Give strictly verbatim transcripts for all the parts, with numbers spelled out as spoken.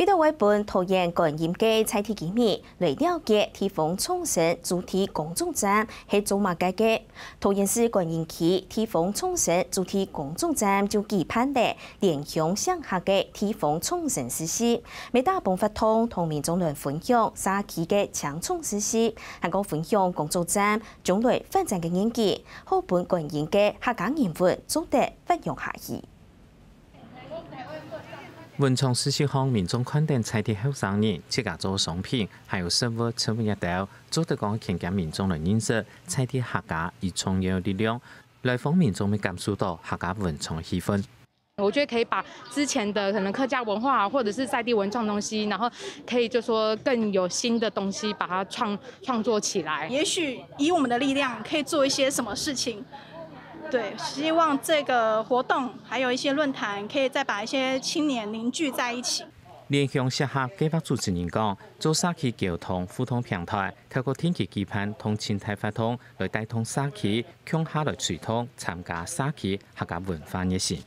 這兜會分桃園觀音个在地居民來了解地方創生主題工作站係做麼个个。桃園市觀音區地方創生主題工作站就舉辦了 聯鄉適合个地方創生市集，乜打幫活動同民眾來分享社區个青創事業，還過分享工作站將來發展个願景，好分觀音个客家人文做得發揚下去。文創市集項，民眾看等在地後生人自家做商品，還有食物、植物這兜，做得講牽近民眾來認識在地客家與創業力量，來訪民眾乜感受到客家文創氣氛。 我觉得可以把之前的可能客家文化或者是在地文创东西，然后可以就说更有新的东西把它创创作起来。也许以我们的力量可以做一些什么事情。对，希望这个活动还有一些论坛，可以再把一些青年凝聚在一起。聯鄉協合計畫主持人講，做社區溝通互動平台，透過定期舉辦同靜態活動來帶動社區共下來推動參加社區客家文化熱情。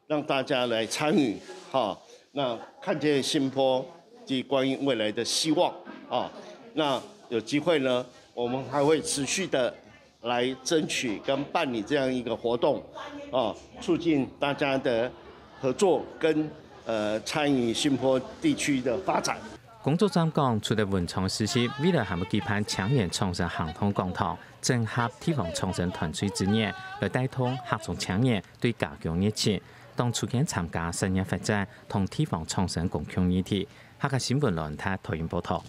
让大家来参与，哈，那看见新坡及观音未来的希望啊。那有机会呢，我们还会持续的来争取跟办理这样一个活动，啊，促进大家的合作跟呃参与新坡地区的发展。工作站講，除了文創市集，未來還會舉辦青年創新行動講堂，整合地方創新團隊資源，來帶動客庄青年對家鄉熱情，當促進參加產業發展同地方創新公共議題。客家新聞論壇台灣報導。